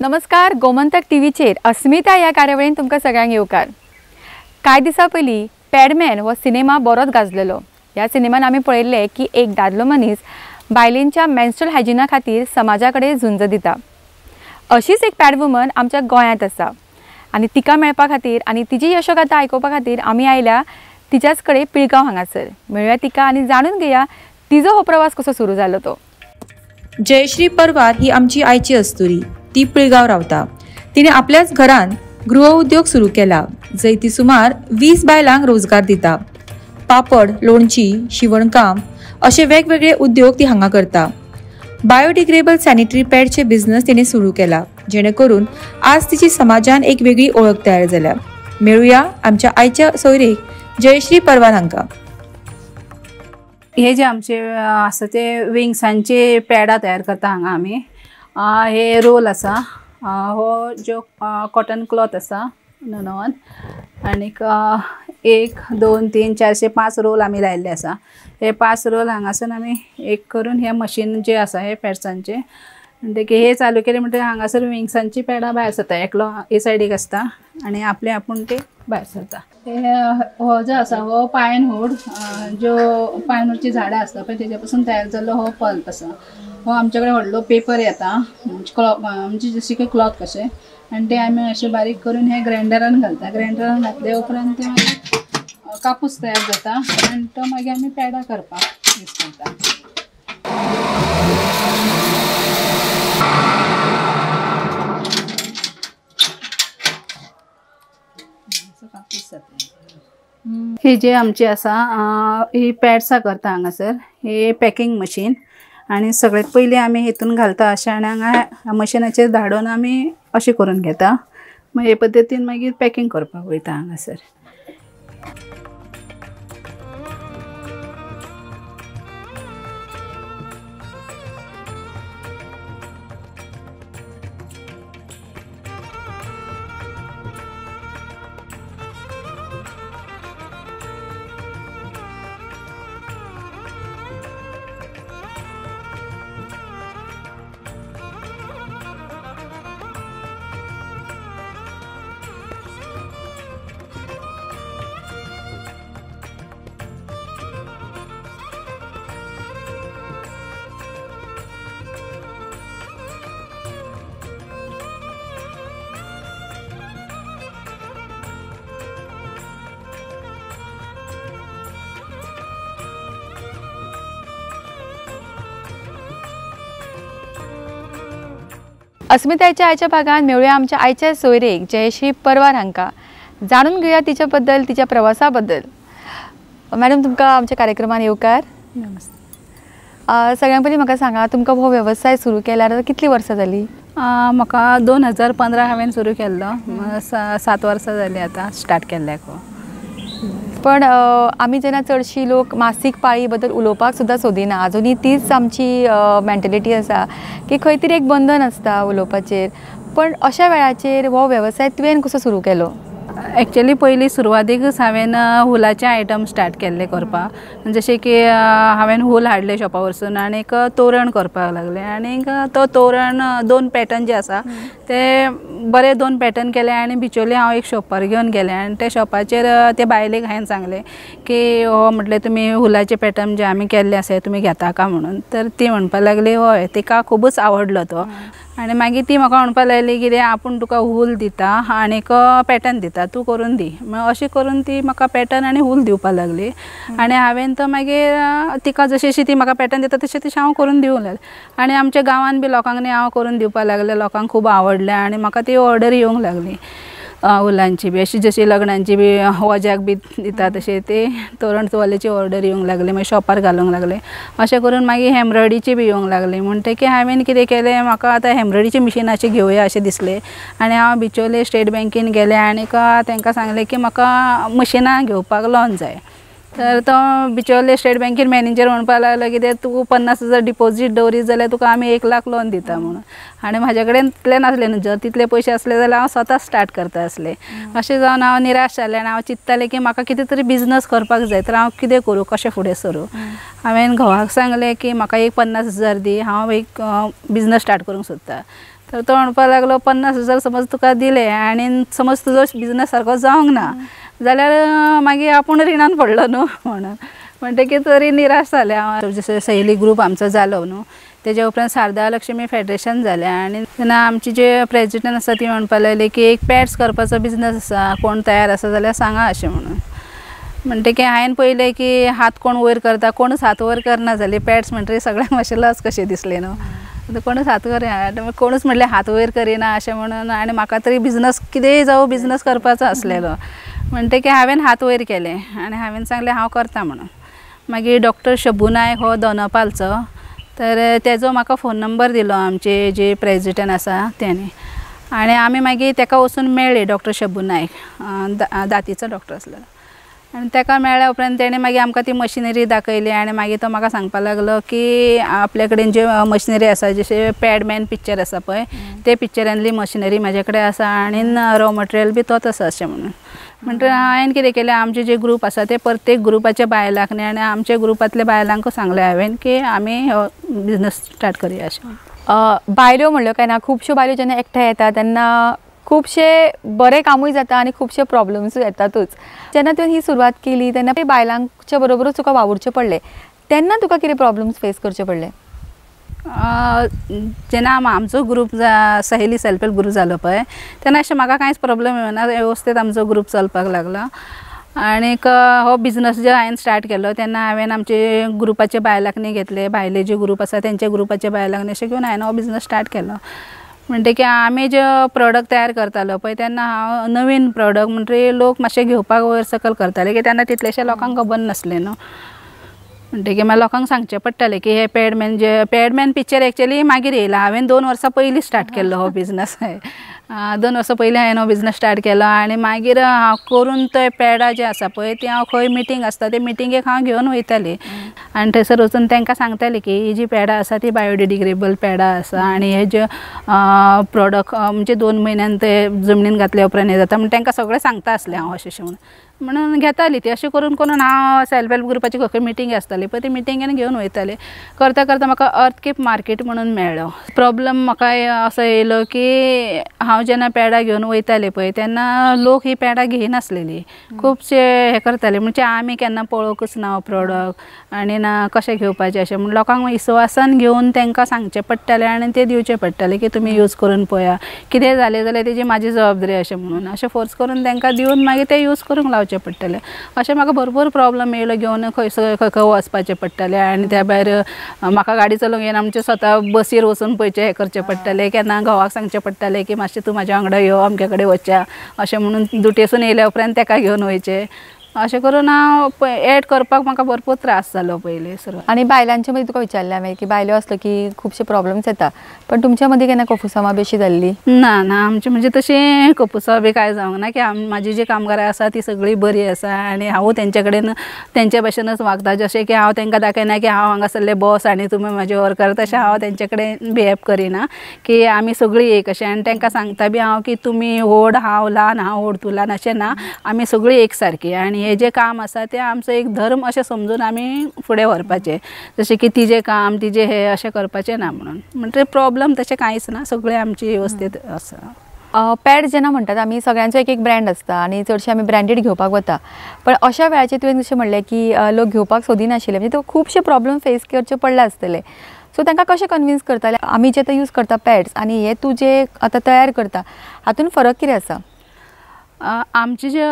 नमस्कार, गोमंतक टीव्हीचेर अस्मिता ह्या कार्यावळीन तुमकां सगळ्यांक येवकार। कांय दिसां पयलीं पॅडमॅन हो सिनेमा बरोच गाजलेलो। ह्या सिनेमान आमी पळयल्लें की एक दादलो मनीस बायलेंच्या मेन्स्ट्रुअल हायजिना खातीर समाजा कडेन झुंज दिता। अशीच एक पॅड वुमन आमच्या गोंयांत आसा आनी तिका मेळपा खातीर आनी तिजी यशोगाथा आयकुपा खातीर आमी आयल्या तिच्याच कडेन पिळगांव हांगासर। मेळुया तिका आनी जाणून घेया तिजो हो प्रवास कसो सुरू जालो तो। जयश्री परवार ही आमची आयची अस्तुरी। ती पिळगांव रावता। तिणे आपल्याच घरान गृह उद्योग सुरू केला, जंय ती सुमार 20 बायलांक रोजगार दिता। पापड, लोणची, शिवणकाम असे वेगवेगळे उद्योग ती हांगा करता। बायोडिग्रेडेबल सॅनिटरी पॅडचे बिझनेस तिने सुरू केला, जेणेकरून आज तिची समाजान एक वेगळी ओळख तयार जाल्या। मेळुया आमच्या आयच्या सोयरेक जयश्री परवार हांकां। हे जे आमचे आसा ते विंग्सांचे पॅडां तयार करता हांगा आमी। हे रोल आसा, हो जो कॉटन क्लॉथ आसा नवन, आनीक 1 2 3 4 5 रोल आमी लायिल्ले आसा। हे 5 रोल हांगासर आमी एक करून हे मशीन जे आसा हे पॅड्सांचे म्हणटकीर हे चालू केले म्हणटकीर हांगासर विंग्सांची पॅडां भायर सरता। एकलो हे सायडीक आसता आनी आपले आपूण ते भायर सरता। हे हो जो आसा हो पायनवूड, ज्यो पायनवूडची झाडां आसता पळय तेज्या पासून तयार जाल्लो हो पल्प आसा। हो आमचे कडेन व्हडलो पेपर येता, म्हणजे जशी की क्लॉथ कशें, आनी ते आमी अशें बारीक करून हे ग्रायंडरान घालता। ग्रायंडरान घातले उपरांत ते मागीर कापूस तयार जाता आनी तो मागीर आमी पेडां करपाक यूज करता। कापूस जाता। ही जे आमची आसा ही पॅड्सां करता हांगासर, ही पॅकिंग मशीन, आनी सगळ्यात पयलीं आमी हितून घालता अशें आनी हांगा मशिनाचेर धाडून आमी अशें करून घेता। मागीर हे पद्दतीन मागीर पॅकिंग करपाक वयता हांगासर। अस्मिताच्या आयच्या भागान मेळुया आमच्या आयच्या सोयरेक जयश्री परवार हांकां। जाणून घेवया तिच्या बद्दल, तिच्या प्रवासा बद्दल। मॅडम, तुमकां आमच्या कार्यक्रमान येवकार। नमस्ते। सगळ्यां पयलीं म्हाका सांगा, तुमकां हो वेवसाय सुरू केल्यार कितली वर्सां जाली? म्हाका 2015 हांवें सुरू केल्लो, 7 वर्सां जाली आतां स्टार्ट केल्ल्याक। पण आमी जेन्ना चडशी लोक मासीक पाळी बद्दल उलोवपाक सुद्दां सोदिना, आजुनूय तीच आमची मेंटेलिटी आसा की खंय तरी एक बंधन आसता उलोवपाचेर। पण अशा वेळाचेर हो वेवसाय तुवें कसो सुरू केलो? एक्चुअली पयलीं सुरवातीकच हांवें हुलाचे आयटम स्टार्ट केल्ले करपाक, जशें की हांवें हूल हाडले शॉपा वरसून आनीक तोरण करपाक लागलें। आनीक तो तोरण 2 पॅटर्न जे आसा ते बरे 2 पॅटर्न केले आनी बिचोली हांव एक शॉपार घेवन गेलें आनी त्या शॉपाचेर ते बायलेक हांवें सांगलें की हो म्हटलें तुमी हुलाचे पॅटर्न जे आमी केल्ले आसा तुमी घेता काय म्हणून। तर ती म्हणपाक लागली हय, तिका खुबूच आवडलो तो। आनी मागीर ती म्हाका म्हणपाक लागली कितें आपूण तुका हूल दिता आनीक पॅटर्न दिता, तूं करून दी। मागीर अशें करून ती म्हाका पॅटर्न आनी हूल दिवपाक लागली आनी हांवें तो मागीर तिका जशी जशी ती म्हाका पॅटर्न दिता तशें तशें हांव करून दिवंक लागलें आनी आमच्या गांवांत बी लोकांक न्ही हांव करून दिवपाक लागलें, लोकांक खूब आवडलें आनी म्हाका ती ऑर्डर येवंक लागली हुलांची बी, अशी जशी लग्नांची बी वज्याक बी दिता तशें ते तोरण चोवल्याची ऑर्डर येवंक लागली, मागीर शॉपार घालूंक लागले। अशें करून मागीर एम्ब्रॉयडरीची बी येवंक लागली। म्हणटकीर हांवें कितें केलें, म्हाका आतां एम्ब्रॉयडरीची मिशिनाची घेवया अशें दिसलें आनी हांव बिचोले स्टेट बँकेन गेलें आनीक तांकां सांगलें की म्हाका मशिनां घेवपाक लोन जाय। तर तो बिचोले स्टेट बँकेन मॅनेजर म्हणपाक लागलो कितें तूं 50,000 डिपॉजीट दवरीत जाल्यार तुका आमी 1 लाख लोन दिता म्हणून. आनी म्हाजे कडेन तितले नासले न्हू, जर तितले पयशे आसले जाल्यार हांव स्वता स्टार्ट करता आसलें. अशें जावन हांव निराश जालें आनी हांव चिंत्तालें की म्हाका कितें तरी बिजनस करपाक जाय, तर हांव कितें करूं, कशें फुडें सरूं. हांवें घोवाक सांगलें की म्हाका एक 50,000 दी, हांव एक बिजनस स्टार्ट करूंक सोदता. तर तो म्हणपाक लागलो 50,000 समज तुका दिले आनी समज तुजो बिजनस सारको जावंक ना जाल्यार मागीर आपूण रिणान पडलो न्हू म्हणून. म्हणटकीर तरी निराश जालें हांव. जशें सहेली ग्रूप आमचो जालो न्हू तेज्या उपरांत शारदा लक्ष्मी फेडरेशन जालें आनी तेन्ना आमची जे प्रेजिडंट आसा ती म्हणपाक लागली की एक पॅड्स करपाचो बिजनस आसा, कोण तयार आसा जाल्यार सांगा अशें म्हणून. म्हणटकीर हांवें पळयलें की हात कोण वयर करता, कोणूच हात वयर करना जाली. पॅड्स म्हणटकीर सगळ्यांक मातशें लज कशें दिसलें न्हू, कोणूच हात वयर, कोणूच म्हणलें हात वयर करिना अशें म्हणून. आनी म्हाका तरी बिजनस कितेंय जावं बिजनस करपाचो आसलेलो. म्हणटकीर हांवें हात वयर केले आनी हांवें सांगलें हांव करता म्हणून. मागीर डॉक्टर शबू नायक हो दोनपालचो, तर तेजो म्हाका फोन नंबर दिलो आमचे जे प्रेजिडंट आसा तेणी. आनी आमी मागीर तेका वचून मेळ्ळे, डॉक्टर शबू नायक दातीचो डॉक्टर आसलो. आनी तेका मेळ्ळ्या उपरांत तेणें मागीर आमकां ती मशिनरी दाखयली आनी मागीर तो म्हाका सांगपाक लागलो की आपल्या कडेन ज्यो मशिनरी आसा, जशें पॅडमॅन पिक्चर आसा पळय ते पिक्चरांतली मशिनरी म्हाजे कडेन आसा आनी रॉ मटेरियल बी तोच आसा अशें म्हणून. म्हणटकीर हांवें कितें केलें, आमचे जे ग्रूप आसा ते प्रत्येक ग्रुपाच्या बायलांक न्ही आनी आमच्या ग्रुपांतल्या बायलांक सांगलें हांवें की आमी हो बिजनस स्टार्ट करुया अशें. बायलो म्हणल्यो काय ना, खुबश्यो बायलो जेन्ना एकठांय येता तेन्ना खुबशे बरे कामूय जाता आनी खुबशे प्रॉब्लम्सूय येतातूच. जेन्ना तुवें ही सुरवात केली तेन्ना बायलांच्या बरोबरूच तुका वावुरचें पडलें, तेन्ना तुका कितें प्रॉब्लम्स फेस करचे पडले? जेन्ना आमचो ग्रूप सहेली सेल्फ हेल्प ग्रूप जालो पळय तेन्ना अशें म्हाका कांयच प्रॉब्लम येवना, वेवस्थीत आमचो ग्रूप चलपाक लागलो. आनीक हो बिजनस जे हांवें स्टार्ट केलो तेन्ना हांवें आमचे ग्रुपाचे बायलांक न्ही घेतले, भायले जे ग्रूप आसा तेंच्या ग्रुपाचे बायलांक न्ही अशें घेवन हांवें हो बिजनस स्टार्ट केलो. म्हणटकीर आमी जे प्रोडक्ट तयार करतालो पळय तेन्ना हांव नवीन प्रोडक्ट म्हणटकीर लोक मातशे घेवपाक वयर सकयल करताले की तेन्ना तितलेशे लोकांक खबर नासलें न्हू. म्हणटकीर मागीर लोकांक सांगचें पडटालें की हे पॅडमॅन, जे पॅडमॅन पिक्चर एक्चुअली मागीर येयला, हांवें 2 वर्सां पयलीं स्टार्ट केल्लो हो बिजनस. 2 वर्सां पयलीं हांवें हो बिजनस स्टार्ट केलो आनी मागीर हांव करून ते पॅडां जे आसा पळय ती हांव खंय मिटींग आसता ते मिटिंगेक हांव घेवन वयतालें आनी थंयसर वचून तांकां सांगतालें की ही जी पॅडां आसा ती बायोडिग्रेडेबल पॅडां आसा आनी हे जे प्रोडक्ट म्हणजे 2 म्हयन्यान ते जमनीन घातल्या उपरांत हें जाता म्हण तांकां सगळें सांगता आसलें हांव अशें अशें म्हणून. म्हणून घेताली ती. अशें करून करून हांव सेल्फ हेल्प ग्रुपाची खंय खंय मिटींग आसताली पळय ती मिटिंगेन घेवन वयतालें. करता करता म्हाका अर्थकीप मार्केट म्हणून मेळ्ळो. प्रॉब्लम म्हाका असो येयलो की हांव जेन्ना पॅडां घेवन वयतालें पळय तेन्ना लोक ही पॅडां घेयनासलेली, खुबशे हें करताले म्हणजे आमी केन्ना पळोवंकच ना हो प्रोडक्ट आनी ना कशें घेवपाचें अशें म्हूण लोकांक विस्वासान घेवन तांकां सांगचें पडटालें आनी तें दिवचें पडटालें की तुमी यूज करून पळया, कितें जालें जाल्यार तेजी म्हाजी जबाबदारी अशें म्हणून अशें फोर्स करून तांकां दिवन मागीर ते यूज करूंक लावचें पडटालें. अशें म्हाका भरपूर प्रॉब्लम येयलो, घेवन खंय खंय खंय वचपाचें पडटालें आनी त्या भायर म्हाका गाडी चलोवंक येना म्हणजे स्वता बसीर वचून पयशे हें करचें पडटालें, केन्ना घोवाक सांगचें पडटालें की मातशें तूं म्हाज्या वांगडा यो अमके कडेन वचया अशें म्हणून ड्युटेसून येयल्या उपरांत तेका घेवन वयचें. अशें करून हांव एड करपाक म्हाका भरपूर त्रास जालो पयलीं सुरवात. आनी बायलांचे मदीं तुका विचारलें हांवें की बायलो आसलो की खुबशे प्रॉब्लम्स येता, पण तुमच्या मदीं केन्ना कोफुसांवां बी अशी जाल्ली? ना ना, आमचें म्हणजे तशें कोफुसांव बी कांय जावंक ना की म्हाजी जी कामगारां आसा ती सगळीं बरी आसा आनी हांवूय तेंचे कडेन तेंचे भशेनच वागता. जशें की हांव तांकां दाखयना की हांव हांगासरलें बॉस आनी तुमी म्हाजे वर्कर, तशें हांव तेंचे कडेन बिहेव करिना की आमी सगळीं एक अशें. आनी तांकां सांगता बी हांव की तुमी व्हड हांव ल्हान, हांव व्हड तूं ल्हान अशें ना, आमी सगळीं एक सारकी आनी हे जे काम आसा तें आमचो एक धर्म अशें समजून आमी फुडें व्हरपाचें, जशें की तिजें काम तिजें हें अशें करपाचें ना म्हणून. म्हणटकीर प्रॉब्लम तशें कांयच ना, सगळें आमची वेवस्थीत आसा. पॅड जेन्ना म्हणटात आमी सगळ्यांचो एक एक ब्रँड आसता आनी चडशे आमी ब्रँडेड घेवपाक वता, पण अशा वेळाचेर तुवें जशें म्हणलें की लोक घेवपाक सोदिनाशिल्ले, म्हणजे तुका खुबशे प्रॉब्लम फेस करचे पडले आसतले. सो तांकां कशें कन्विन्स करताले आमी जे आतां यूज करता पॅड्स आनी हे तूं जे आतां तयार करता हातून फरक कितें आसा? आमचे जे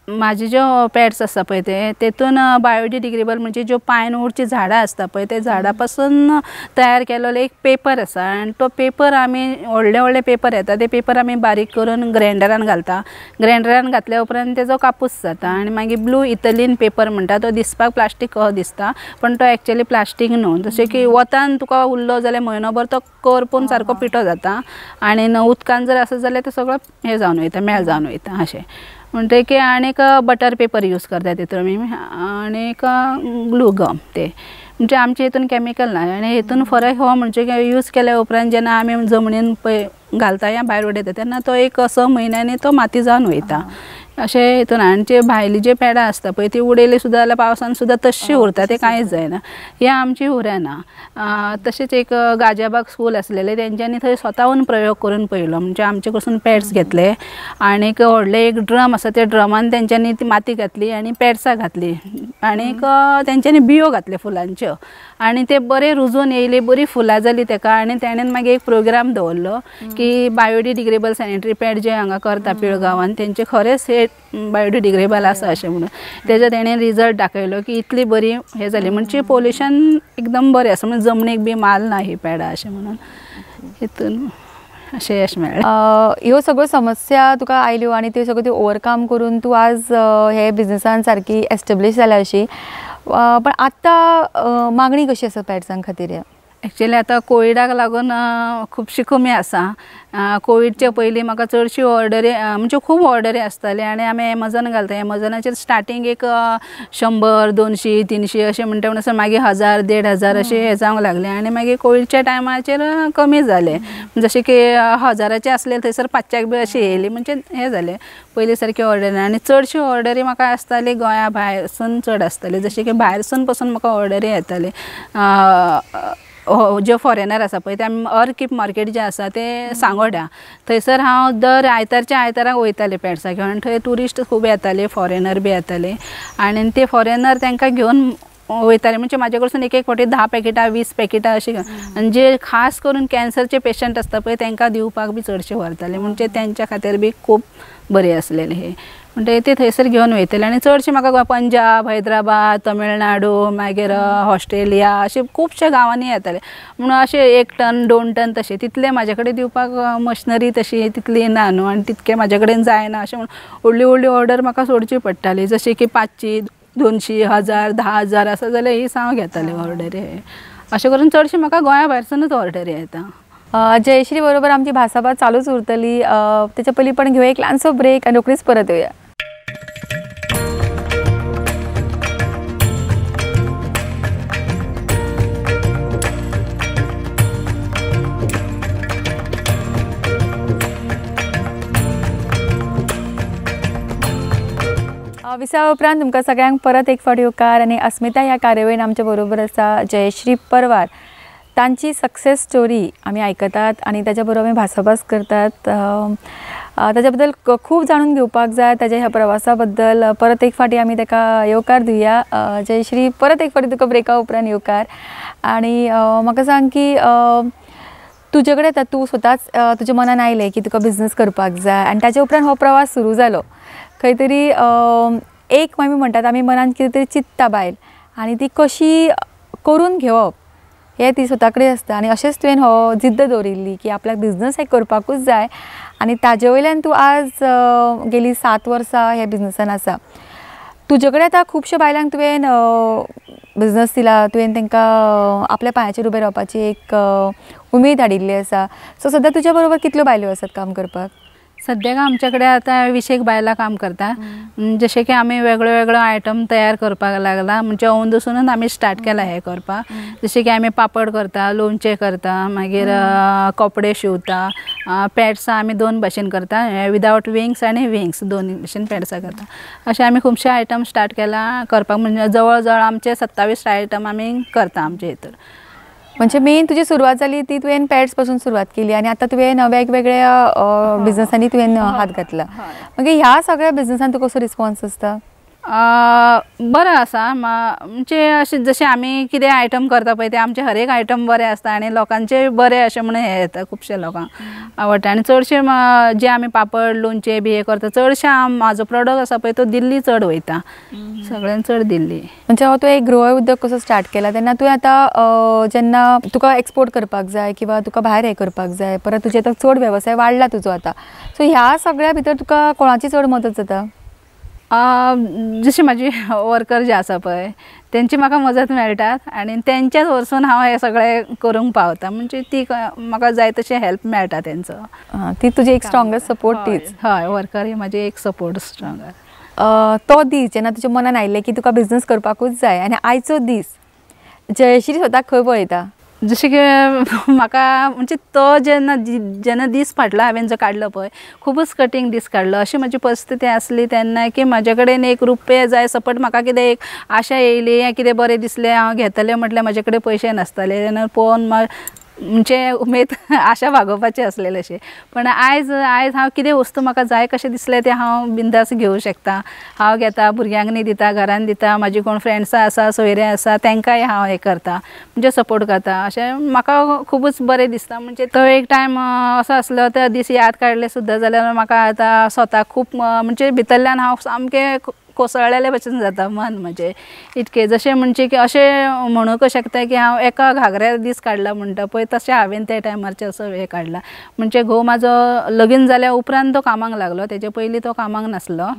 म्हाजे ज्यो पॅड्स आसा पळय ते तेतून बायोडिग्रेडेबल म्हणजे ज्यो पायनवूडची झाडां आसता पळय ते झाडां पासून तयार केल्लो एक पेपर आसा आनी तो पेपर आमी व्हडले व्हडले पेपर येता ते पेपर आमी बारीक करून ग्रायंडरान घालता. ग्रायंडरान घातल्या उपरांत तेजो कापूस जाता आनी मागीर ब्लू इथलीन पेपर म्हणटा तो दिसपाक प्लास्टीक कसो दिसता पण तो एक्चुअली प्लास्टीक न्हू. जशें की वतान तुका उरलो जाल्यार म्हयनोभर तो करपून सारको पिठो जाता आनी उदकान जर आसत जाल्यार तो सगळो हें जावन वयता, मेळ जावन वयता अशें. म्हणटकीर आनीक बटर पेपर यूज करता तितून आमी आनीक ग्लू गम ते म्हणजे आमचे हितून कॅमिकल ना. आनी हितून फरक हो म्हणजे यूज केल्या उपरांत जेन्ना आमी जमनीन पळय घालता या भायर उडयता तेन्ना तो एक 6 म्हयन्यांनी तो माती जावन वयता अशें हितून. आनी जे भायली जे पॅडां आसता पळय ती उडयली सुद्दां जाल्यार पावसान सुद्दां तश्शी उरता, ते कांयच जायना. हें आमची उरना. तशेंच एक गाजियाबाग स्कूल आसलेलें तेंच्यांनी थंय स्वताहून प्रयोग करून पळयलो म्हणजे आमचे कडसून पॅड्स घेतले आनीक व्हडलें एक ड्रम आसा त्या ड्रमान तेंच्यांनी ती माती घातली आनी पॅड्सां घातली आनीक तेंच्यांनी बियो घातले फुलांच्यो आनी ते बरे रुजून येयली, बरी फुलां जालीं तेका. आनी तेणेन मागीर एक प्रोग्राम दवरलो की बायोडिग्रेडेबल सॅनिटरी पॅड जे हांगा करता पिळगांवान तेंचे खरेंच हे बायोडिग्रेडेबल आसा अशें म्हणून तेजो तेणें रिजल्ट दाखयलो की इतली बरी हें जाली म्हणजे पोल्युशन एकदम बरें आसा म्हणजे जमनीक बी माल ना ही पॅडां अशें म्हणून हितून अशें यश मेळ्ळें. ह्यो सगळ्यो समस्या तुका आयल्यो आनी त्यो सगळ्यो त्यो ओवरकम करून तूं आज हे बिजनसान सारकी एस्टेब्लीश जाल्या अशी, पण आतां मागणी कशी आसा पॅड्सां खातीर? एक्चुअली आतां कोविडाक लागून खुबशी कमी आसा. कोविडच्या पयलीं म्हाका चडशी ऑर्डरी म्हणजे खूब ऑर्डरी आसताली आनी आमी एमेझॉन घालता. एमेझॉनाचेर स्टार्टींग एक 100, 200, 300 अशें म्हणटा म्हणसर मागीर 1000, 1500 अशें हें जावंक लागलें आनी मागीर कोविडच्या टायमाचेर कमी जालें. जशें की 1000चे आसले थंयसर 500 बी अशें येयली म्हणजे हें जालें पयलीं सारकी ऑर्डर ना. आनी चडशी ऑर्डरी म्हाका आसताली गोंया भायरसून चड आसताली, जशें की भायरसून पसून म्हाका ऑर्डरी येताली. जे फॉरेनर आसा पळय ते आमी अर्कीप मार्केट जें आसा तें सांगोड्या थंयसर हांव दर आयतारच्या आयताराक वयतालें पॅड्सां घेवन. थंय ट्युरिस्ट खूब येताले, फॉरेनर बी येताले आनी ते फॉरेनर तांकां घेवन वयताले म्हणजे म्हाजे कडसून एक एक फावटी 10 पॅकेटां 20 पॅकेटां अशें घेवन. आनी जे खास करून कॅन्सरचे पेशंट आसता पळय तांकां दिवपाक बी चडशे व्हरताले म्हणजे तेंच्या खातीर बी खूब बरें आसलेलें हें म्हणटकीर ते थंयसर घेवन वयताले. आनी चडशे म्हाका पंजाब, हैदराबाद, तमिळनाडू, मागीर ऑस्ट्रेलिया अशे खुबशे गांवांनी येताले म्हणून अशें 1 टन 2 टन तशें तितलें म्हाजे कडेन दिवपाक मशिनरी तशी तितली ना न्हू आनी तितकें म्हाजे कडेन जायना अशें म्हणून व्हडली व्हडली ऑर्डर म्हाका सोडची पडटाली. जशें की 500, 200, 1000, 10,000 आसा जाल्यार ही हांव घेतालें ऑर्डरी. अशें करून चडशें म्हाका गोंया भायरसूनच ऑर्डरी येता. जयश्री बरोबर आमची भासाभास चालूच उरतली, तेच्या पयलीं पण घेवया एक ल्हानसो ब्रेक आनी रोखडीच परत येवया. विसाव्या उपरांत तुमकां सगळ्यांक परत एक फावट येवकार आनी अस्मिता ह्या कार्यावळीन आमच्या बरोबर आसा जयश्री परवार. तांची सक्सेस स्टोरी आमी आयकतात आनी ताच्या बरोबर आमी भासाभास करतात. ताच्या बद्दल खूब जाणून घेवपाक जाय, ताच्या ह्या प्रवासा बद्दल परत एक फावटी आमी ताका येवकार दिवया. जयश्री, परत एक फावटी तुका ब्रेका उपरांत येवकार. आनी म्हाका सांग की तुजे कडेन आतां तूं स्वताच तुज्या मनान आयलें की तुका बिजनस करपाक जाय आनी ताच्या उपरांत हो प्रवास सुरू जालो. खंय तरी एक आमी म्हणटात आमी मनान कितें तरी चिंतता बायल आनी ती कशी करून घेवप हें ती स्वता कडेन आसता आनी अशेंच तुवें हो जिद्द दवरिल्ली की आपल्याक बिजनस हें करपाकूच जाय आनी ताजे वयल्यान तूं आज गेली 7 वर्सां ह्या बिजनसान आसा. तुजे कडेन आतां खुबश्या बायलांक तुवें बिजनस दिला, तुवें तांकां आपल्या पांयाचेर उबें रावपाची एक उमेद हाडिल्ली आसा. सो सद्या तुज्या बरोबर कितल्यो बायलो आसात काम करपाक? सद्याक आमचे कडेन आतां 20 बायलां काम करता. जशें की आमी वेगळो वेगळो आयटम तयार करपाक लागला म्हणजे अंदूसूनच आमी स्टार्ट केला हें करपाक. जशें की आमी पापड करता, लोणचें करता, मागीर कपडे शिंवता, पॅड्सां आमी 2 भाशेन करता, विदावट विंग्स आनी विंग्स 2 भाशेन पॅड्सां करता. अशें आमी खुबशे आयटम स्टार्ट केला करपाक म्हणजे जवळ जवळ आमचे 27 आयटम आमी करता आमचे हितूर. म्हणजे मेन तुजी सुरवात जाली ती तुवें पॅड्स पासून सुरवात केली आनी आतां तुवें वेगवेगळ्या बिजनसांनी तुवें हात घातला. मागीर ह्या सगळ्या बिजनसान तुका कसो रिस्पॉन्स आसता? बरें आसा म्हणजे अशें जशें आमी कितें आयटम करता पळय ते आमचे हर एक आयटम बरें आसता आनी लोकांचे बरें अशें म्हणून हें येता, खुबशे लोकांक आवडटा. आनी चडशे जे आमी पापड लोणचें बी हें करता चडशे म्हाजो प्रोडक्ट आसा पळय तो दिल्ली चड वयता, सगळ्यान चड दिल्ली. म्हणजे हो तूं एक गृह उद्योग कसो स्टार्ट केला तेन्ना तुवें आतां जेन्ना तुका एक्सपोर्ट करपाक जाय किंवा तुका भायर हें करपाक जाय, परत तुजें आतां चड वेवसाय वाडला तुजो आतां, सो ह्या सगळ्या भितर तुका कोणाची चड मदत जाता? जशी म्हाजी वर्कर जे आसा पळय तेंची म्हाका मजत मेळटात आनी तेंच्याच वरसून हांव हें सगळें करूंक पावता, म्हणजे ती म्हाका जाय तशें हेल्प मेळटा तेंचो. ती तुजी एक स्ट्रॉंगेस्ट सपोर्ट तीच. हय, वर्कर ही म्हाजी एक सपोर्ट स्ट्रॉंग. तो दीस जेन्ना तुज्या मनान आयिल्लें की तुका बिजनस करपाकूच जाय आनी आयचो दीस जयश्री स्वताक खंय पळयता? जशें की म्हाका म्हणजे तो जेन्ना जेन्ना दीस फाटलो हांवें जो काडलो पळय खुबूच कठीण दीस काडलो. अशी म्हजी परिस्थिती आसली तेन्ना की म्हाजे कडेन एक रुपया जाय सपोज म्हाका कितें एक आशा येयली या कितें बरें दिसलें हांव घेतलें म्हटल्यार म्हाजे कडेन पयशे नासताले तेन्ना पळोवन म्हणजे उमेद आशा भागोवपाची आसलेली अशें. पण आयज आयज हांव कितें वस्तू म्हाका जाय कशें दिसलें तें हांव बिंदास घेवं शकता. हांव घेता, भुरग्यांक दिता, घरान दिता, म्हाजी कोण फ्रेंड्सां आसा सोयरे आसा तांकांय हांव हें करता म्हणजे सपोर्ट करता. अशें म्हाका खुबूच बरें दिसता. म्हणजे तो एक टायम असो आसलो तो दीस याद काडले सुद्दां जाल्यार म्हाका आतां स्वताक खूब म्हणजे भितरल्यान हांव सामकें कोसळ्ळेले भशेन जाता मन म्हजें इतकें. जशें म्हणजे की अशें म्हणूंक शकता की हांव एका घागऱ्यार दीस काडला म्हणटा पळय तशें हांवें त्या टायमारचेर असो हें काडला. म्हणजे घोव म्हाजो लगीन जाल्या उपरांत तो कामाक लागलो, तेजे पयलीं तो कामाक नासलो,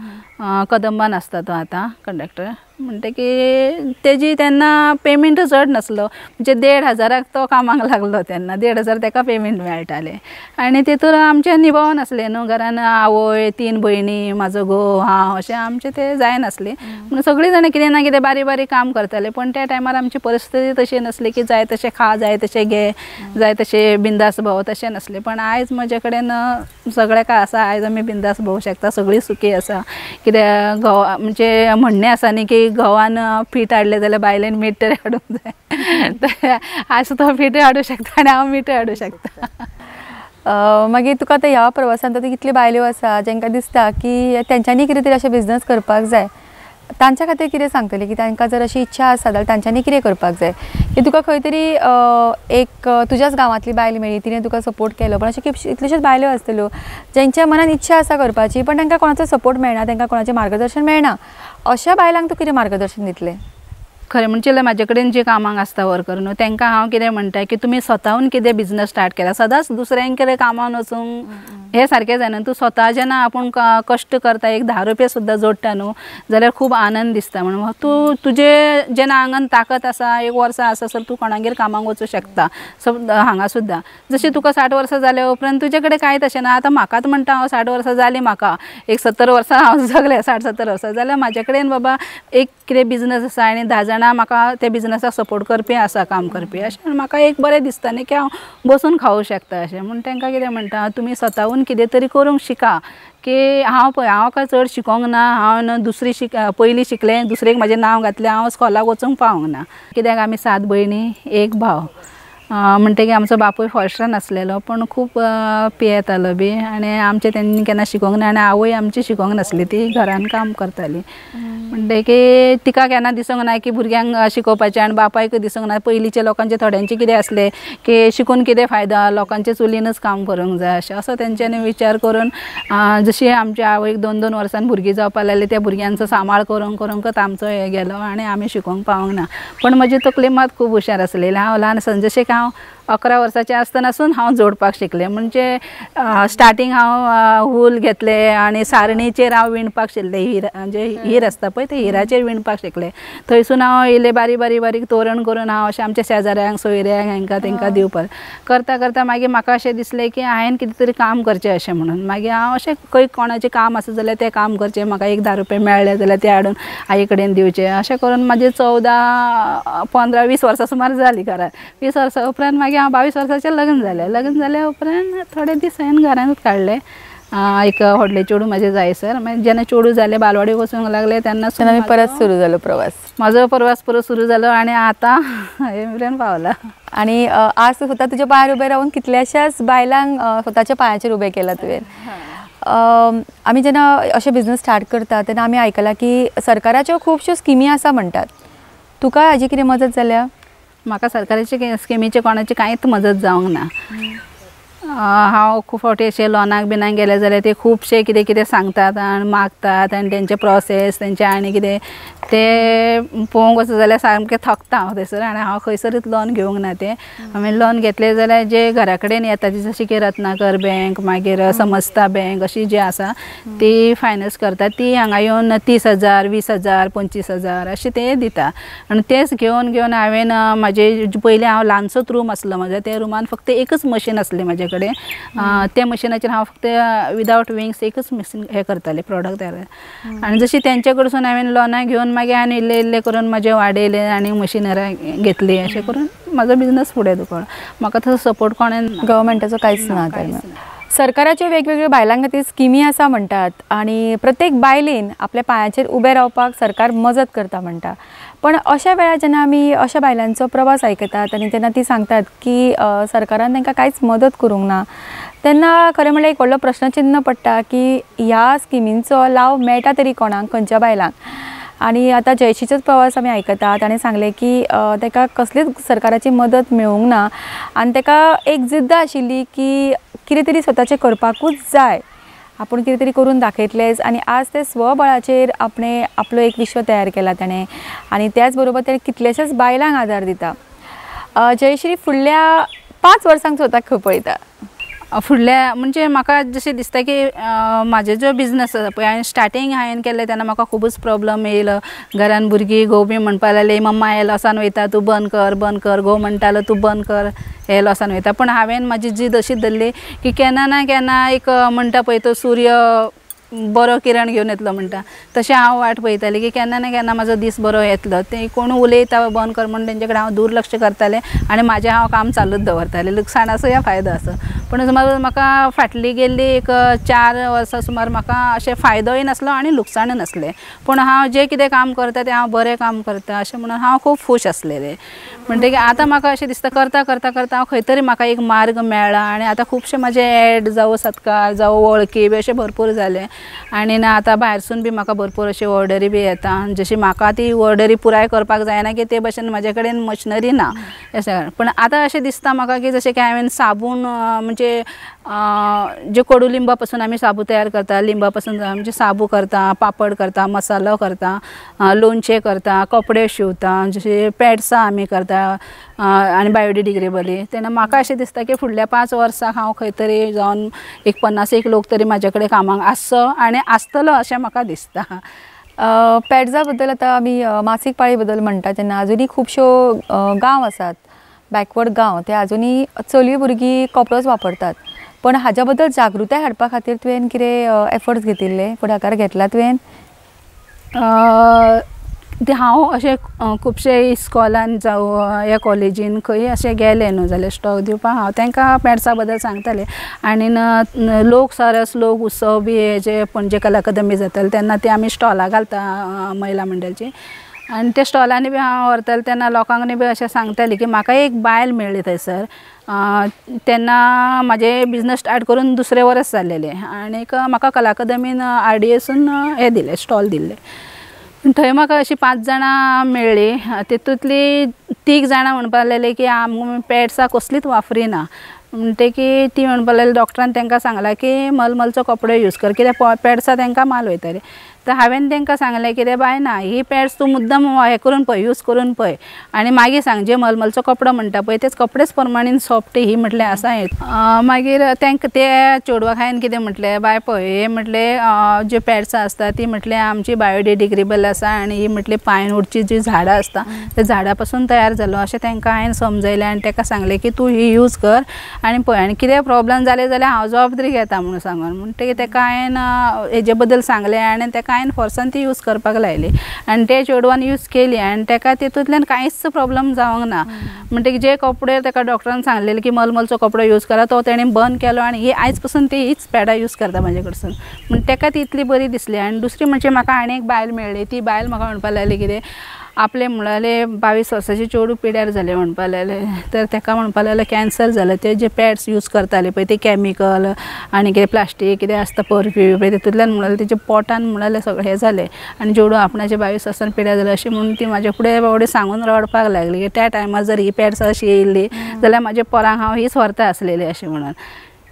कदंबान आसता तो आतां कंडक्टर. म्हणटकीर तेजी तेन्ना पेमेंट चड नासलो, म्हणजे 1500 तो कामाक लागलो तेन्ना 1500 तेका पेमेंट मेळटालें आनी तेतूर आमचें निभावन आसलें न्हू घरान आवय, 3 भयणी, म्हाजो घोव, हांव, अशें आमचें तें जायनासलें. म्हणून सगळीं जाणां कितें ना कितें बारीक बारीक काम करताले, पण त्या टायमार आमची परिस्थिती तशी नासली की जाय तशें खा, जाय तशें घे, जाय तशें बिंदास भोंव, तशें नासलें. पण आयज म्हजे कडेन सगळें काय आसा, आयज आमी बिंदास भोंवूंक शकता, सगळीं सुखी आसा. कित्याक घोव म्हणजे म्हणणें आसा न्ही की घोवान पीठ हाडलें जाल्यार बायलेन मीठ तरी हाडूंक जाय, आयज तो पीठ हाडूंक शकता आनी हांव मीठ हाडूंक शकता. मागीर तुका आतां ह्या प्रवासान आतां कितल्यो बायल्यो आसा जांकां दिसता की तेंच्यांनी कितें तरी अशें बिजनस करपाक जाय, तांच्या खातीर कितें सांगतलें की तांकां जर अशी इच्छा आसा जाल्यार तांच्यांनी कितें करपाक जाय? की तुका खंय तरी एक तुज्याच गांवांतली बायल मेळ्ळी, तिणें तुका सपोर्ट केलो, पण अशें कितल्योश्योच बायल्यो आसतल्यो जांच्या मनान इच्छा आसा करपाची पण तांकां कोणाचो सपोर्ट मेळना, तांकां कोणाचें मार्गदर्शन मेळना, अशा बायलांक तूं कितें मार्गदर्शन दितलें? खरें म्हणजे म्हाजे कडेन जे कामाक आसता वर्कर न्हू तांकां हांव कितें म्हणटा की तुमी स्वताहून कितें बिजनस स्टार्ट केला, सदांच दुसऱ्यांकडे कामान वचूंक हें सारकें जायना. तूं स्वता जेन्ना आपूण कश्ट करता, एक 10 रुपया सुद्दां जोडटा न्हू जाल्यार खूब आनंद दिसता. म्हणून तूं तुजे जेन्ना आंगान ताकत आसा, एक वर्सां आसा सर तूं कोणागेर कामाक वचूं शकता. हांगा सुद्दां जशें तुका 60 वर्सां जाल्या उपरांत तुजे कडेन कांयच अशें ना. आतां म्हाकाच म्हणटा हांव 60 वर्सां जालीं, म्हाका एक 70 वर्सां हांव जगलें, 60-70 वर्सां जाल्यार म्हाजे कडेन बाबा एक कितें बिजनस आसा आनी 10 जाणां म्हाका त्या बिजनसाक सपोर्ट करपी आसा, काम करपी, अशें म्हाका एक बरें दिसता न्ही की हांव बसून खावूं शकता. अशें म्हूण तांकां कितें म्हणटा, तुमी स्वताहून कितें तरी करूंक शिका. की हांव पळय हांव काय चड शिकोंक ना, हांव न्हू दुसरी पयलीं शिकलें, दुसरेक म्हाजें नांव घातलें, हांव स्कॉलाक वचूंक पावूंक ना. कित्याक आमी 7 भयणी 1 भाव, म्हणटकीर आमचो बापूय फॉरेस्टान आसलेलो पण खूब पियेतालो बी आनी आमचें तेन्ना केन्ना शिकोंक ना आनी आवय आमची शिकोंक नासली, ती घरान काम करताली. म्हणटकीर तिका केन्ना दिसूंक ना की भुरग्यांक शिकोवपाचें आनी बापायकूय दिसूंक ना. पयलींच्या लोकांचें थोड्यांचें कितें आसलें की शिकून कितें फायदा, लोकांचे चुलीनच काम करूंक जाय अशें, असो तेंच्यांनी विचार करून जशी आमच्या आवयक 2-2 वर्सां भुरगीं जावपाक लागलीं त्या भुरग्यांचो सांबाळ करूंक करूंकच आमचो हें गेलो आनी आमी शिकोवंक पावूंक ना. पण म्हजी तकली मात खूब हुशार आसलेली. हांव ल्हान आसतना जशें की हांव 11 वर्साचें आसतनासून हांव जोडपाक शिकलें. म्हणजे स्टार्टींग हांव वूल घेतलें आनी सारणीचेर हांव विणपाक शिकलें. हिरा म्हणजे हीर आसता पळय ते हिराचेर विणपाक शिकलें. थंयसून हांव इल्लें बारीक बारीक बारीक तोरण करून हांव अशें आमच्या शेजाऱ्यांक सोयऱ्यांक हांकां तांकां दिवपाक करता करता मागीर म्हाका अशें दिसलें की हांवें कितें तरी काम करचें अशें म्हणून. मागीर हांव अशें खंय कोणाचें काम आसा जाल्यार तें काम करचें, म्हाका एक 10 रुपया मेळ्ळे जाल्यार ते हाडून आई कडेन दिवचें, अशें करून म्हाजें 14, 15, 20 वर्सां सुमार जालीं घरांत. 20 वर्सां उपरांत मागीर हांव 22 वर्साचें लग्न जालें. लग्न जाल्या उपरांत थोडे दीस हांवें घरांतूच काडले. एक व्हडलें चेडूं म्हाजें जायसर, मागीर जेन्ना चेडूं जालें बालवाडी वचूंक लागलें तेन्ना परत सुरू जालो प्रवास, म्हाजो प्रवास परत सुरू जालो आनी आतां हे मेरेन पावला. आनी आज तूं स्वता तुज्या पांयार उबें रावन कितल्याशाच बायलांक स्वताच्या पांयाचेर उबें केलां तुवें. आमी जेन्ना अशें बिजनस स्टार्ट करता तेन्ना आमी आयकलां की सरकाराच्यो खुबश्यो स्किमी आसा म्हणटात, तुका हाजी कितें मदत जाल्या? म्हाका सरकाराचे स्किमीचे कोणाची कांयच मदत जावंक ना. हांव खूब फावटी अशें लोनाक बिनाक गेलें जाल्यार ते खुबशे कितें कितें सांगतात आनी मागतात आनी तेंचे प्रोसेस तेंचे आनी कितें ते पळोवंक वचत जाल्यार सामकें थकता हांव थंयसर आनी हांव खंयसरूच लोन घेवंक ना. तें हांवें लोन घेतलें जाल्यार जे घरा कडेन येता ती जशें की रत्नाकर बँक, मागीर समस्ता बँक अशी जी आसा ती फायनान्स करता. ती हांगा येवन 30,000, 20,000, 25,000 अशें ते दिता आनी तेच घेवन घेवन हांवें म्हाजे पयलीं हांव ल्हानसोच रूम आसलो म्हाजो, त्या रुमान फक्त एकच मशीन आसलें म्हाजे कडेन. त्या मशिनाचेर हांव फक्त विदावट विंग्स एकच मशीन हें करतालें, प्रोडक्ट तयार. आनी जशी तेंचे कडसून हांवें लोनां घेवन मागीर आनी इल्लें इल्लें करून म्हाजें वाडयलें आनी मशिनरां घेतली, अशें करून म्हाजो बिजनस फुडें दुखलो. म्हाका तसो सपोर्ट कोणें ना, गव्हर्मेंटाचो कांयच ना. सरकाराच्यो वेगवेगळ्यो बायलां खातीर स्किमी आसा म्हणटात आनी प्रत्येक बायलेन आपल्या पांयाचेर उबें रावपाक सरकार मजत करता म्हणटा, पण अशा वेळार जेन्ना आमी अशा बायलांचो प्रवास आयकतात आनी तेन्ना ती सांगतात की सरकारान तांकां कांयच मदत करूंक ना, तेन्ना खरें म्हणल्यार एक व्हडलो प्रश्नचिन्न पडटा की ह्या स्किमींचो लाव मेळटा तरी कोणाक, खंयच्या बायलांक. आनी आतां जयश्रीचोच प्रवास आमी आयकतात, ताणें सांगलें की ताका कसलीच सरकाराची मदत मेळूंक ना आनी ताका एक जिद्द आशिल्ली की कितें तरी स्वताचें करपाकूच जाय, आपूण कितें तरी करून दाखयतलेंच. आनी आज ते स्वबळाचेर आपणें आपलो एक विश्व तयार केला ताणें आनी त्याच बरोबर तेणें कितलेशेच बायलांक आदार दिता. जयश्री, फुडल्या 5 वर्सांक स्वताक खंय पळयता? फुडल्या म्हणजे म्हाका जशें दिसता की म्हाजे जो बिजनस आसा पळय, हांवें स्टार्टींग हांवें केलें तेन्ना म्हाका खुबूच प्रोब्लम येयलो. घरान भुरगीं घोव बी म्हणपाक लागली, मम्मा हे लॉसान वयता, तूं बंद कर बंद कर, घोव म्हणटालो तूं बंद कर, हे लॉसान वयता. पूण हांवें म्हाजी जीद अशी धरली की केन्ना ना केन्ना एक म्हणटा पळय तो सूर्य बरो किरण घेवन येतलो म्हणटा, तशें हांव वाट पळयतालें की केन्ना ना केन्ना म्हाजो दीस बरो येतलो. ते कोण उलयता बंद कर म्हणून तेंचे कडेन हांव दुर्लक्ष करतालें आनी म्हाजें हांव काम चालूच दवरतालें, लुकसाण आसूं या फायदो आसूं. पूण सुमार म्हाका फाटली गेल्ली एक 4 वर्सां सुमार म्हाका अशें फायदोय नासलो आनी लुकसाणय नासलें, पूण हांव जें कितें काम करता तें हांव बरें काम करता अशें म्हणून हांव खूब खूश आसलेलें. म्हणटकीर आतां म्हाका अशें दिसता करता करता करता हांव खंय तरी म्हाका एक मार्ग मेळ्ळा आनी आतां खुबशे म्हाजे एड जावं सत्कार जावं वळखी बी अशें भरपूर जाले आनी ना आतां भायरसून बी म्हाका भरपूर अशी ऑर्डरी बी येता. जशी म्हाका ती ऑर्डरी पुराय करपाक जायना की ते भशेन म्हाजे कडेन मशिनरी ना अशें. पूण आतां अशें दिसता म्हाका की जशें की हांवें साबून म्हणजे जे कोडू लिंबा पासून आमी साबू तयार करता, लिंबा पासून म्हणजे साबू करता, पापड करता, मसालो करता, लोणचें करता, कपडे शिंवता, जशे पॅड्सां आमी करता आनी बायोडिग्रेडेबली. तेन्ना म्हाका अशें दिसता की फुडल्या 5 वर्सां हांव खंय तरी जावन एक 50 लोक तरी म्हाजे कडेन कामाक आसचो आनी आसतलो अशें म्हाका दिसता. पॅड्सा बद्दल आतां आमी मासीक पाळी बद्दल म्हणटा तेन्ना आजुनूय खुबश्यो गांव आसात, बॅकवर्ड गांव, ते आजुनूय चलयो भुरगीं कपडोच वापरतात. पण हाज्या बद्दल जागृताय हाडपा खातीर तुवें कितें एफर्ट्स घेतिल्ले, फुडाकार घेतला तुवें? ते हांव अशें खुबशे इस्कॉलान जावं या कॉलेजीन खंय अशें गेलें न्हू जाल्यार स्टॉक दिवपाक हांव तांकां पॅड्सा बद्दल सांगतालें. आनी लोक सरस लोक उत्सव बी हे जे पणजे कला अकादमी जाताले तेन्ना ते आमी स्टॉलां घालता महिला मंडळाची, आनी त्या स्टॉलांनी बी हांव व्हरतालें तेन्ना लोकांक बी अशें सांगतालें की म्हाका एक बायल मेळ्ळी थंयसर. तेन्ना म्हाजें बिजनस स्टार्ट करून दुसरें वर्स जाल्लेलें आनीक म्हाका कला अकादमीन आरडीएसून हें दिलें, स्टॉल दिल्लें. थंय म्हाका अशीं 5 जाणां मेळ्ळीं, तितूंतलीं 3 जाणां म्हणपाक लागलीं की आमी पॅड्सां कसलीच वापरिना. म्हणटकीर ती म्हणपाक लागली डॉक्टरान तांकां सांगलां की मलमलचो कपडो यूज कर, कित्याक पॅड्सां तांकां माल वयतालीं. तर हांवें तांकां सांगलें कितें बाय ना, ही पॅड्स तूं मुद्दम हें करून पळय, यूज करून पळय आनी मागीर सांग, जे मलमलचो कपडो म्हणटा पळय तेच कपडेच प्रमाणें सॉफ्ट ही म्हटलें आसा हें. मागीर तांकां त्या चेडवाक हांवें कितें म्हटलें, बाय पळय हे म्हटलें ज्यो पॅड्सां आसता ती म्हटलें आमची बायोडिग्रेडेबल आसा आनी ही म्हटलें पायनवूडची जी झाडां आसता त्या झाडां पासून तयार जालो अशें तांकां हांवें समजयलें आनी ताका सांगलें की तूं ही यूज कर आनी पळय आनी कितें प्रॉब्लम जालें जाल्यार हांव जबाबदारी घेता म्हणून सांगून. म्हणटकीर ताका हांवें हेजे बद्दल सांगलें आनी ताका हांवें फोर्सान ती यूज करपाक लायली आनी ते चेडवान यूज केली आनी ताका तितूंतल्यान कांयच प्रॉब्लम जावंक ना. म्हणटकीर जे कपडे ताका डॉक्टरान सांगलेले की मलमलचो कपडो यूज करा तो तेणें बंद केलो आनी ही आयज पसून ती हीच पॅडां यूज करता म्हाजे कडसून. म्हण ताका ती इतली बरी दिसली. आनी दुसरी म्हणजे म्हाका आनी एक बायल मेळ्ळी, ती बायल म्हाका म्हणपाक लागली कितें आपले म्हणाले 22 वर्साचे चेडूं पिड्यार जालें म्हणपाक लागलें, तर ताका म्हणपाक लागलें कॅन्सर जालें, ते जे पॅड्स यूज करताले पळय ते कॅमिकल आनी कितें प्लास्टीक कितें आसता परफ्यूम पळय तितूंतल्यान म्हणाले तेजे पोटान म्हणाले सगळें हें जालें आनी चेडूं आपणाचे 22 वर्सान पिड्यार जालें अशें म्हणून ती म्हाजे फुडें बावडी सांगून रडपाक लागली की त्या टायमार जर ही पॅड्स अशी येयल्ली जाल्यार म्हाज्या पोरांक हांव हीच व्हरता आसलेली अशें म्हणून.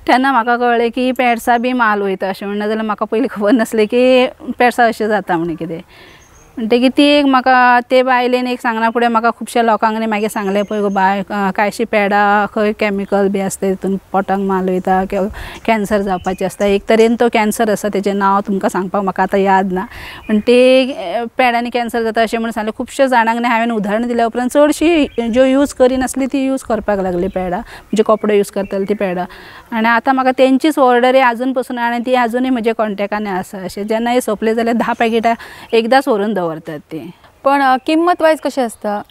तेन्ना म्हाका कळ्ळें की पॅड्सां बी माल वयता अशें म्हणून, नाजाल्यार म्हाका पयलीं खबर नासलें की पॅड्सां अशें जाता म्हण कितें. म्हणटकीर ती एक म्हाका ते बायलेन एक सांगना फुडें म्हाका खुबश्या लोकांक न्ही मागीर सांगलें पळय गो बाय कांयशी पॅडां खंय कॅमिकल बी आसता तितून पोटाक माल वयता, कॅन्सर जावपाचें आसता. एक तरेन तो कॅन्सर आसा तेजें नांव तुमकां सांगपाक म्हाका आतां याद ना, पण ते पॅडांनी कॅन्सर जाता अशें म्हणून सांगलें. खुबश्या जाणांक न्ही हांवें उदाहरण दिल्या उपरांत चडशी ज्यो यूज करिनासली ती यूज करपाक लागली पॅडां, म्हणजे कपडे यूज करताले ती पॅडां. आनी आतां म्हाका तेंचीच ऑर्डरी आजून पसून आनी ती आजुनूय म्हज्या कॉन्टेक्टान आसा. अशें जेन्ना सोंपले जाल्यार 10 पॅकेटां एकदांच व्हरून दवरतात ती. पण किंमत वायज कशें आसता?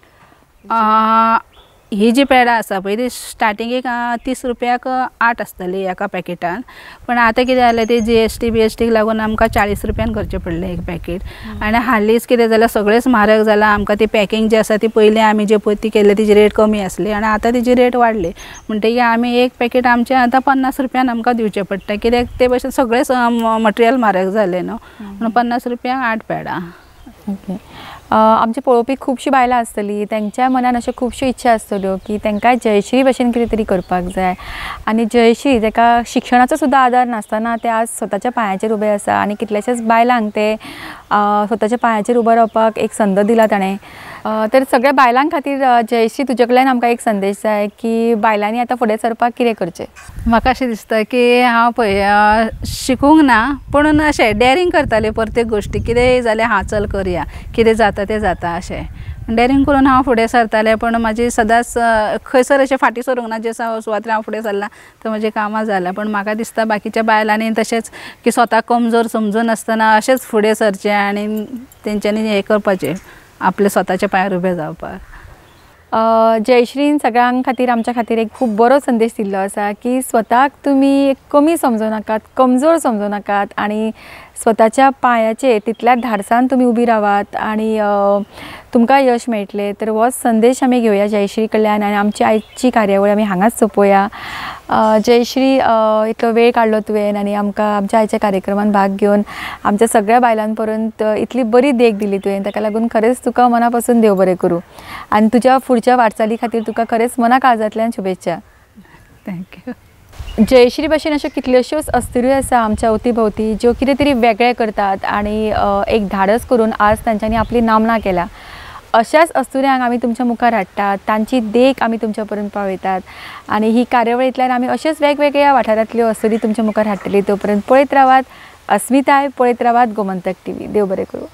ही जी पॅडां आसा पळय ती स्टार्टिंगेक 30 रुपयाक 8 आसताली एका पॅकेटान, पण आतां कितें जालें ते GST BST लागून आमकां 40 रुपयान करचें पडलें एक पॅकेट. आनी हालींच कितें जालें सगळेंच म्हारग जालां. आमकां ती पॅकिंग जी आसा ती पयलीं आमी जे पळय ती केल्ली तिजी रेट कमी आसली आनी आतां तिजी रेट वाडली. म्हणटकीर आमी एक पॅकेट आमचें आतां 50 रुपयान आमकां दिवचें पडटा, कित्याक ते भशेन सगळेंच मटेरियल म्हारग जालें न्हू, म्हणून 50 रुपयांक 8 पॅडां. ओके, आमचे पळोवपी खुबशीं बायलां आसतलीं, तेंच्या मनान अश्यो खुबश्यो इच्छा आसतल्यो की तांकां जयश्री भशेन कितें तरी करपाक जाय. आनी जयश्री ताका शिक्षणाचो सुद्दां आदार नासतना ते आज स्वताच्या पांयाचेर उबें आसा आनी कितल्याश्याच बायलांक ते स्वताच्या पांयाचेर उबो रावपाक एक संद दिला ताणें. तर सगळ्या बायलां खातीर जयश्री तुजे कडल्यान आमकां एक संदेश जाय की बायलांनी आतां फुडें सरपाक कितें करचें? म्हाका अशें दिसता की हांव पळय शिकूंक ना पूण अशें डॅरींग करतालें प्रत्येक गोश्टी, कितेंय जाल्यार हां चल करया, कितें जाता तें जाता अशें डॅरींग करून हांव फुडें सरतालें. पूण म्हाजी सदांच खंयसर अशें फाटीं सरूंक ना, जे सुवातेर हांव फुडें सरलां थंय म्हजें कामां जालां. पूण म्हाका दिसता बाकीच्या बायलांनी तशेंच की स्वताक कमजोर समजून नासतना अशेंच फुडें सरचें आनी तेंच्यांनी हें करपाचें, आपल्या स्वताच्या पांयार उबें जावपाक. जयश्रीन सगळ्यां खातीर आमच्या खातीर एक खूब बरो संदेश दिल्लो आसा की स्वताक तुमी कमी समजूं नाकात, कमजोर समजूं नाकात आनी स्वताच्या पांयाचेर तितल्या धाडसान तुमी उबी रावात आनी तुमकां यश मेळटलें. तर हो संदेश आमी घेवया जयश्री कडल्यान आनी आमची आयची कार्यावळ आमी हांगाच सोंपोवया. जयश्री, इतलो वेळ काडलो तुवें आनी आमकां आमच्या आयच्या कार्यक्रमान भाग घेवन आमच्या सगळ्या बायलां पर्यंत इतली बरी देख दिली तुवें, ताका लागून खरेंच तुका मना पासून देव बरें करूं आनी तुज्या फुडच्या वाटचाली खातीर तुका खरेंच मना काळजांतल्यान शुभेच्छा. Thank you. Jayashree भशेन अश्यो कितल्योश्योच अस्तुऱ्यो आसा आमच्या अवती भोवती ज्यो कितें तरी वेगळें करतात आनी एक धाडस करून आज तांच्यांनी आपली नामना केल्या. अशाच अस्तुऱ्यांक आमी तुमच्या मुखार हाडटात, तांची देख आमी तुमच्या पर्यंत पावयतात आनी ही कार्यावळींतल्यान आमी अशेच वेगवेगळ्या वाठारांतल्यो अस्तुरी तुमच्या मुखार हाडटली. तो पर्यंत पळयत रावात अस्मिताय, पळयत रावात गोमंतक टीव्ही. देव बरें करूं.